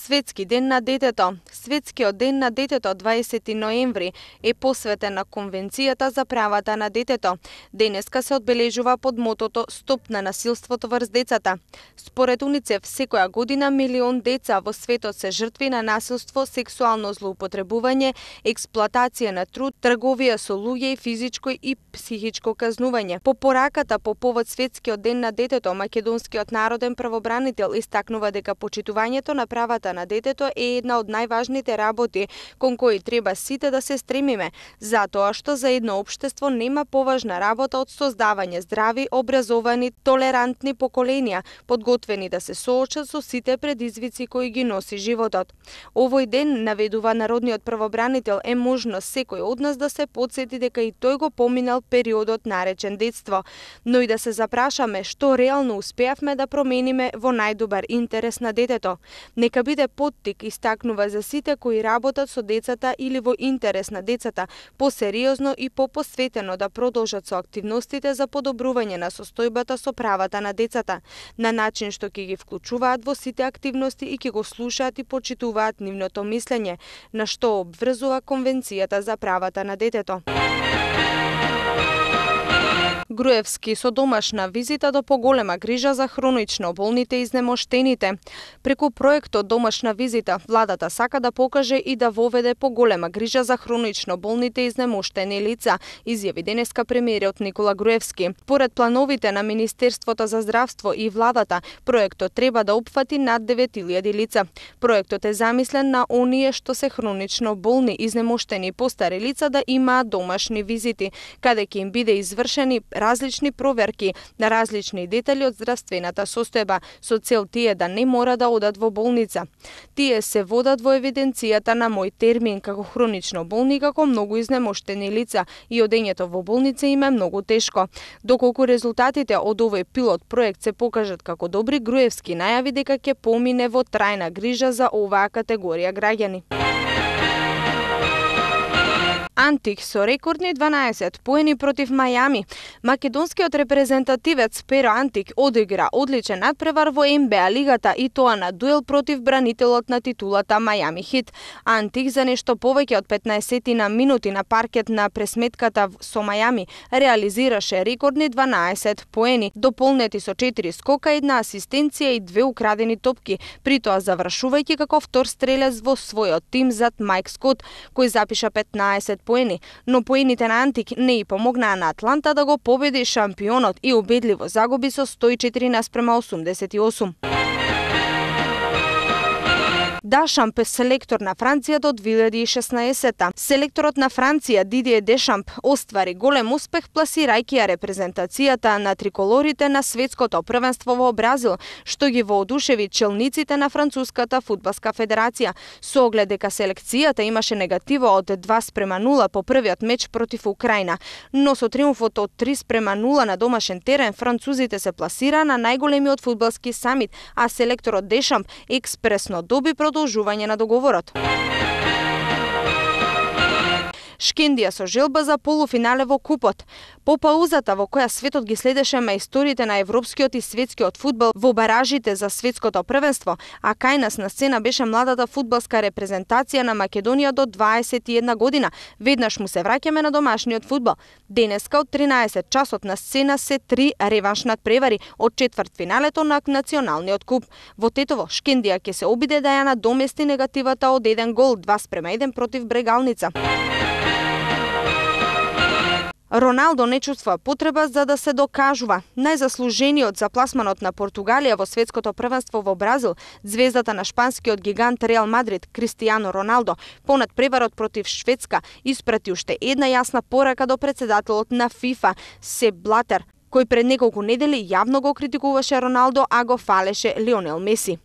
Светски ден на детето. Светскиот ден на детето 20 ноември е посветен на Конвенцијата за правата на детето. Денеска се одбележува под мотото Стоп на насилството врз децата. Според УНИЦЕФ, секоја година милион деца во светот се жртви на насилство, сексуално злоупотребување, експлоатација на труд, трговија со луѓе и физичко и психичко казнување. По пораката по повод Светскиот ден на детето, македонскиот народен правобранител истакнува дека почитувањето на правата на детето е една од најважните работи кон кои треба сите да се стремиме, затоа што за едно општество нема поважна работа од создавање здрави, образовани, толерантни поколенија, подготвени да се соочат со сите предизвици кои ги носи животот. Овој ден, наведува народниот правобранител, е можност секој од нас да се потсети дека и тој го поминал периодот наречен детство, но и да се запрашаме што реално успеавме да промениме во најдобар интерес на детето. Нека биде поттик, истакнува за сите кои работат со децата или во интерес на децата, посериозно и попосветено да продолжат со активностите за подобрување на состојбата со правата на децата, на начин што ќе ги вклучуваат во сите активности и ќе го слушаат и почитуваат нивното мислење, на што обврзува Конвенцијата за правата на детето. Груевски со домашна визита до поголема грижа за хронично болните и изнемоштените. Преку проектот Домашна визита, владата сака да покаже и да воведе поголема грижа за хронично болните и изнемоштени лица, изјави денеска премиерот Никола Груевски. Според плановите на Министерството за здравство и владата, проектот треба да опфати над 9000 лица. Проектот е замислен на оние што се хронично болни, изнемоштени и постари лица да имаат домашни визити, каде ќе им биде извршени различни проверки на различни детали од здравствената состојба, со цел тие да не мора да одат во болница. Тие се водат во евиденцијата на мој термин како хронично болни, како многу изнемоштени лица и одењето во болница им е многу тешко. Доколку резултатите од овој пилот проект се покажат како добри, Груевски најави дека ќе помине во трајна грижа за оваа категорија граѓани. Антик со рекордни 12 поени против Мајами. Македонскиот репрезентативец Перо Антик одигра одличен надпревар во НБА лигата и тоа на дуел против бранителот на титулата Мајами Хит. Антик за нешто повеќе од 15 минути на паркет на пресметката со Мајами реализираше рекордни 12 поени, дополнети со 4 скока, 1 асистенција и 2 украдени топки, при тоа завршувајќи како втор стрелец во својот тим зад Мајк Скот, кој запиша 15 поени, но поените на Антик не и помогнаа на Атланта да го победи шампионот и убедливо загуби со 104:88. Дешамп е селектор на Франција до 2016. Селекторот на Франција Дидие Дешамп оствари голем успех пласирајќи ја репрезентацијата на триколорите на светското првенство во Бразил, што ги воодушеви челниците на Француската фудбалска федерација, со оглед дека селекцијата имаше негативо од 2:0 по првиот меч против Украина, но со триумфот од 3:0 на домашен терен французите се пласира на најголемиот фудбалски самит, а селекторот Дешамп експресно доби продолжување на договорот. Шкендија со желба за полуфинале во купот. По паузата во која светот ги следеше мајсториите на европскиот и светскиот фудбал во баражите за светското првенство, а кај нас на сцена беше младата фудбалска репрезентација на Македонија до 21 година, веднаш му се враќаме на домашниот фудбал. Денеска од 13 часот на сцена се 3 реванш надпревари од четвртфиналето на националниот куп. Во Тетово, Шкендија ќе се обиде да ја надомести негативата од 1 гол, 2:1 против Брегалница. Роналдо не чувствува потреба за да се докажува. Најзаслужениот за пласманот на Португалија во светското првенство во Бразил, звездата на шпанскиот гигант Реал Мадрид Кристијано Роналдо, по надпреварот против Шведска испрати уште една јасна порака до претседателот на ФИФА Сеп Блатер, кој пред неколку недели јавно го критикуваше Роналдо, а го фалеше Лионел Меси.